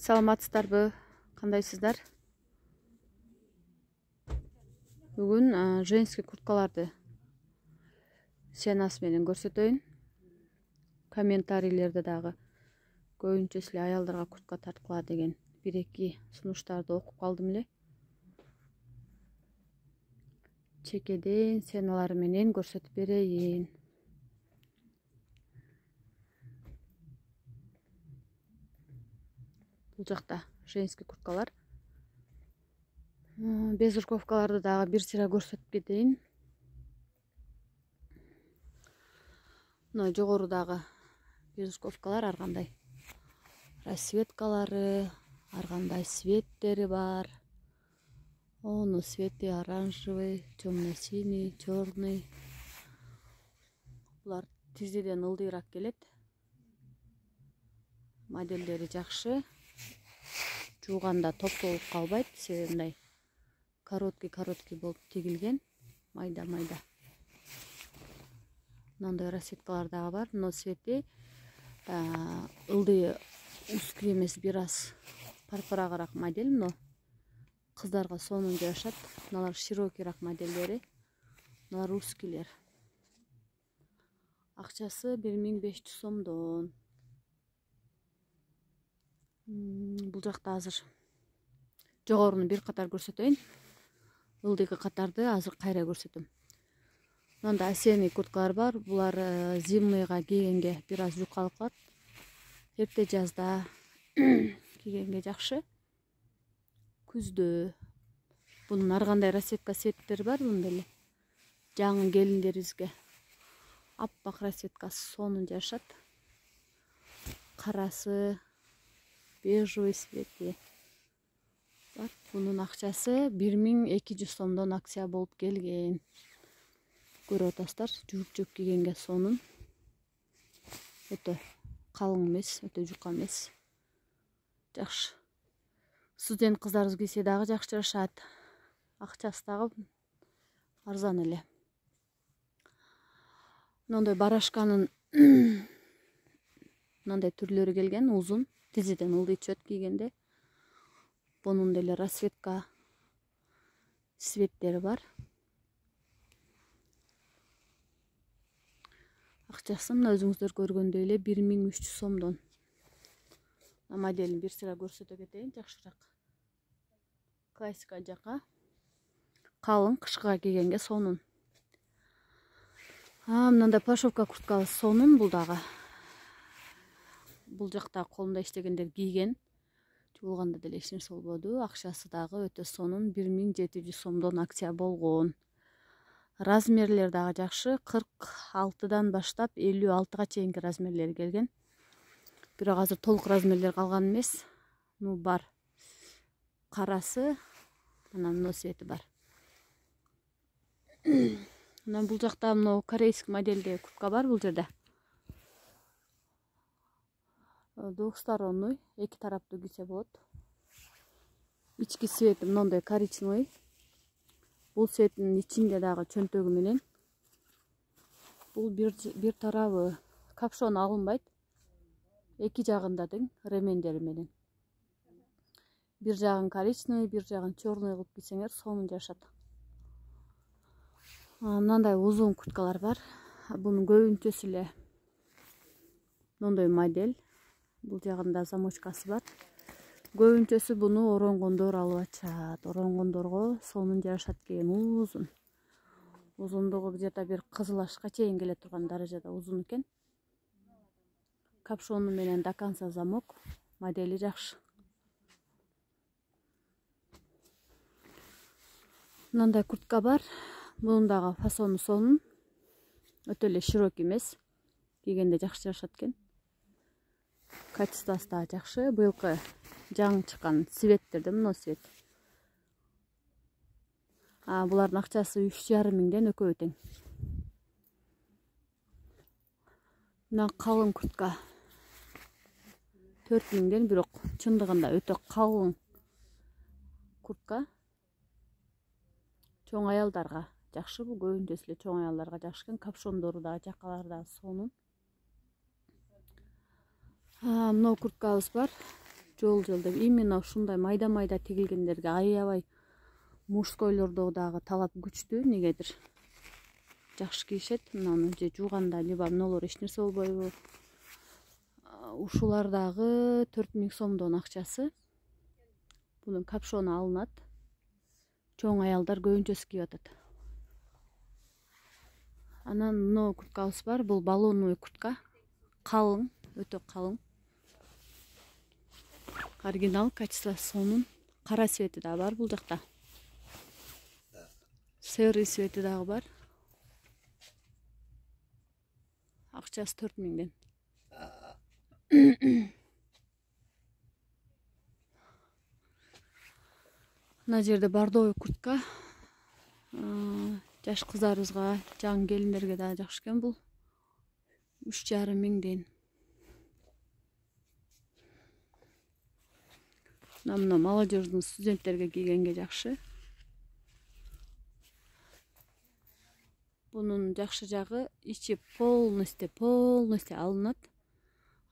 Саламатсыздарбы? Кандайсыздар? Бүгүн женский курткаларды ценасы менен көрсөтөйүн. Комментарийлерде дагы көбүнчөсү эле аялдарга куртка тарткыла деген 1-2 сунуштарды окуп калдым эле. Чекеден ценалары менен көрсөтүп берейин. Бул жакта женский курткалар. Безрукавкаларды дагы бир сыра көрсөтүп кетейин. Мына жогорудагы безрукавкалар ар кандай расцветкалары, ар кандай цветтери бар. Ону цвети оранжевый, темно-синий, черный. Булар тизиден ылдыйраак келет. Модельдери жакшы. Жууганда топтолуп калбайт. Себеби мындай короткий болуп тигилген, майда. Мындай расцветкалар дагы бар. Но цвети ылдый узкий эмес, бир аз парпырагыраак модель. Но кыздарга сонун жашат. Мыналар широкийраак модельдери. Мыналар узкийлер. Акчасы 1500 сомдон. Бул жакта азыр жогоруну бир катар көрсөтөйүн. Ылдыйкы катарды азыр кайра көрсөтөм. Мында осенний курткалар бар. Булар зимныйга кийгенге бир аз жукалып калат. Эрте жазда кийгенге жакшы. Күздө бунун ар кандай расцветка цветтери бар. Мында эле жаңы келиндерибизге аппак расцветкасы сонун жашат. Карасы, бежевый цвети бар. Бунун акчасы 1200 сомдон акция болуп келген. Көрүп атасыздар, жууп кийгенге сонун. Өтө калың эмес, өтө жука эмес. Жакшы. Студент кыздарыбыз кийсе дагы жакшы жашат. Акчасы дагы арзан эле. Мындай барашканын мындай түрлөрү келген, узун, тизиден ылдый түшөт кийгенде. Бунун деле расцветка цветтери бар. Акчасы мына өзүңүздөр көргөндөй эле 1300 сомдон. Моделин бир сыра көрсөтө кетейин, жакшыраак. Классика жака. Калың, кышкыга кийгенге сонун. Мындай пошовка курткабыз сонун бул дагы. Бул жакта колунда иштегендер кийген. Жуулганда деле эч нерсе болбоду. Акчасы дагы өтө сонун, 1700 сомдон акция болгон. Размерлер дагы жакшы. 46дан баштап 56га чейинки размерлери келген. Бирок азыр толук размерлер калган эмес. Ну бар. Карасы, анан цвети бар. Анан бул жакта мына корейский модельде куртка бар бул жерде. Двухсторонний, эки тараптуу кийсе болот. Ички цвети мындай коричневый. Бул цветтин ичинде дагы чөнтөгү менен. Бул бир тарабы капшон алынбайт. Эки жагында тең ремендери менен. Бир жагын коричневый, бир жагын черный кылып кийсеңер сонун жашат. Мындай узун курткалар бар. Бунун көбүнчөсү эле мындай модель. Бул жагында замочкасы бар. Көбүнчөсү буну оронгондор алып ачат. Оронгондорго сонун жашат кийген, узун. Узундугу где-то бир кызыл ашка чейин келе турган даражада узун экен. Капшону менен до конца замок. Модели жакшы. Мындай куртка бар. Бунун дагы фасону сонун. Өтө эле широкий эмес. Кийгенде жакшы жашат экен. Качествосы да жакшы. Быйылкы жаңы чыккан цветтерде мына цвет. Булардын акчасы 3,5 миңден экөө тең. Мына калың куртка 4 миңден, бирок чындыгында өтө калың куртка. Чоң аялдарга жакшы, бул көбүнчөсү эле чоң аялдарга жакшы экен. Капшондору дагы жакалары дагы сонун. Мына курткабыз бар. жол деп именно ушундай майда тигилгендерге аябай мужскойлордо дагы талап күчтүү, негедир жакшы кийишет. Мынаны же жууганда либо мыналар эч нерсе болбойбу. Ушулар дагы 4000 сомдон акчасы. Бунун капшону алынат. Чоң аялдар көбүнчөсү кийип атат. Анан мына курткабыз бар. Бул баллонный куртка. Калың, өтө калың. Оригинал, качествосы сонун. Кара цвети да бар бул жакта. Серый цвети дагы бар. Акчасы 4000ден. Мына жерде бордовый куртка. Жаш кыздарыбызга, жаңы келиндерге да жакшы экен бул. 3500ден. Мына молодежный студенттерге кийгенге жакшы. Бунун жакшы жагы ичи полностью алынат.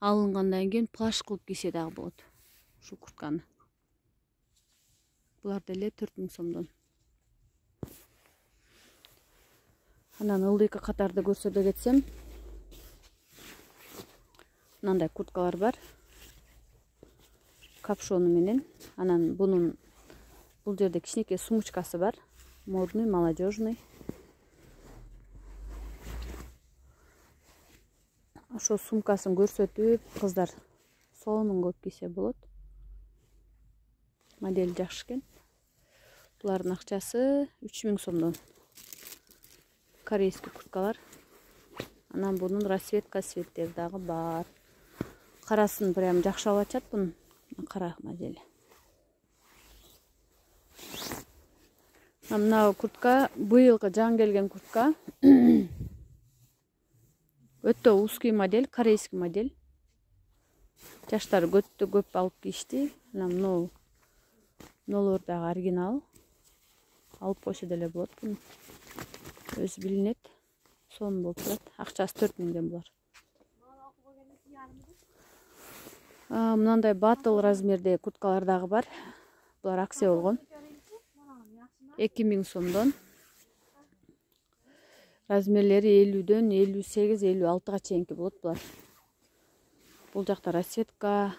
Алынгандан кийин плаш кылып кийсе дагы болот. Ушу куртканы. Булар деле 4000 сомдон. Анан ылдыйкы катарды көрсөтө кетсем, мындай курткалар бар. Капшону менен. Анан бул жерде кичинекей сумочкасы бар. Модный, молодежный. Ошо сумкасын көрсөтүп, кыздар сонун көп кийсе болот. Модель жакшы экен. Булардын акчасы 3000 сомдон. Корейский курткалар. Анан бунун расцветка цветтери дагы бар. Карасын прям жакшы алып ачат бунун. Кара модели. Мына куртка быйылкы жаңы келген куртка. Өтө узкий модель, корейский модель. Жаштар өтө көп алып кийишти. Анан мыналар дагы оригинал. Алып койсо деле болот буну. Өзү билинет. Сонун болуп турат. Акчасы 4000ден булар. Мындай батл размердеги курткалар дагы бар. Булар акция болгон. 2000 сомдон. Размерлери 50дөн 58-56га чейинки болот булар. Бул жакта расцветка,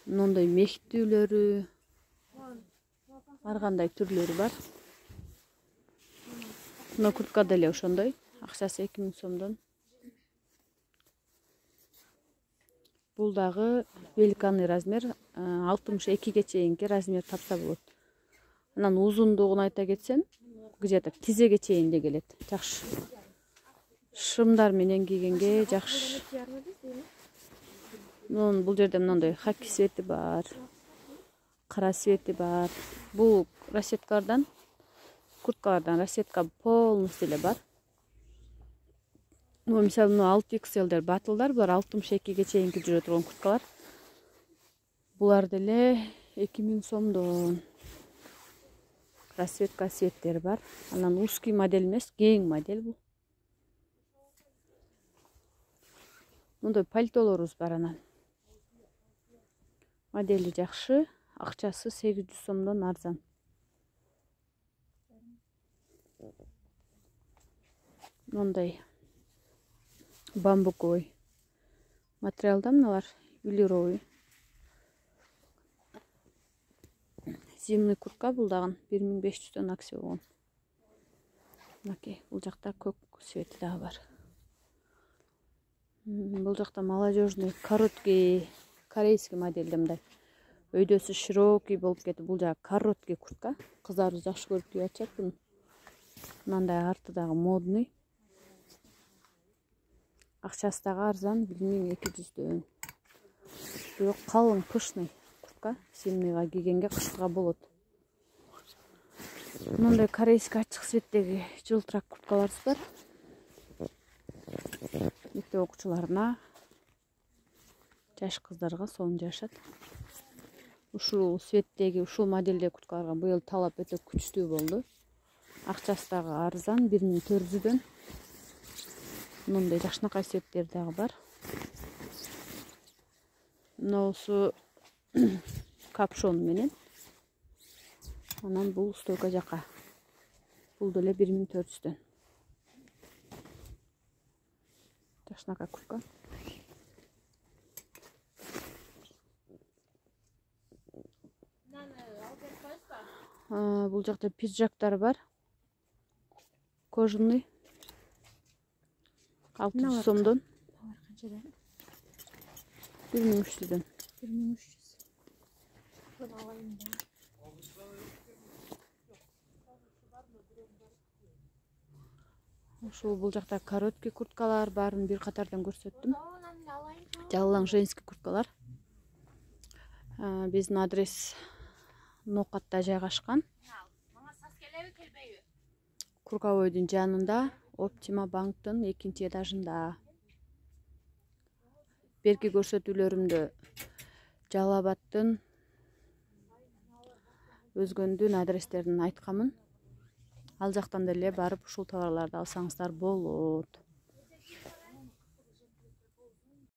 мындай мектүүлөрү, ар кандай түрлөрү бар. Мына куртка деле ошондой. Акчасы 2000 сомдон. Бул дагы великанный размер, 62ге чейинки размер тапса болот. Анан узундугун айта кетсем, где-то тизеге чейин де келет. Жакшы. Шымдар менен кийгенге жакшы. Бул жерде мындай хаки цвети бар. Кара цвети бар. Бул расцветкалардан, курткалардан расцветка полностью эле бар. Мисалы 6XL батылдар, булар 62ге чейинки жүрө турган курткалар. Булар деле 2000 сомдон. Расцветка цветтери бар. Анан узкий модель эмес, кең модель бул. Мындай пальтолорубуз бар анан. Модели жакшы, акчасы 800 сомдон арзан. Мындай бамбуковый материалдан мыналар, велюровый. Зимний куртка бул дагы 1500дөн акция болгон. Мынакей, бул жакта көк цвети дагы бар. Бул жакта молодежный, короткий, корейский модельде мындай. Өйдөсү широкий болуп кетип, бул жагы короткий куртка. Кыздарыбыз жакшы көрүп кийип атышат буну. Мындай арты дагы модный. Акчасы дагы арзан, 1200дөн. Бирок калың, пышный куртка. Зимныйга кийгенге, кыштыга болот. Мындай корейский ачык цветтеги жылтырак курткаларыбыз бар. Мектеп окуучуларына, жаш кыздарга сонун жашат. Ушул цветтеги, ушул моделдеги курткаларга быйыл талап өтө күчтүү болду. Акчасы дагы арзан, 1400дөн. Мындай жакшынакай цветтер дагы бар. Мынусу капшон менен. Анан бул стойка жака. Бул деле 1400дөн. Ташнака куртка. Бул жакта пиджактар бар. Кожаный. 600 сомдон. 1300дөн. 1300. Bunu alayım da. Ошол бул жакта короткий курткалар баарын бир катардан көрсөттүм. Жалаң женский курткалар. Биздин адрес Нокатта жайгашкан. Куркабойдун жанында, Оптима банктын 2-этажында. Берки көрсөтүүлөрүмдө Жалал Абадтын, өзгөндүн адрестерин айтканмын. Ал жактан деле барып ушул товарларды алсаңыздар болот.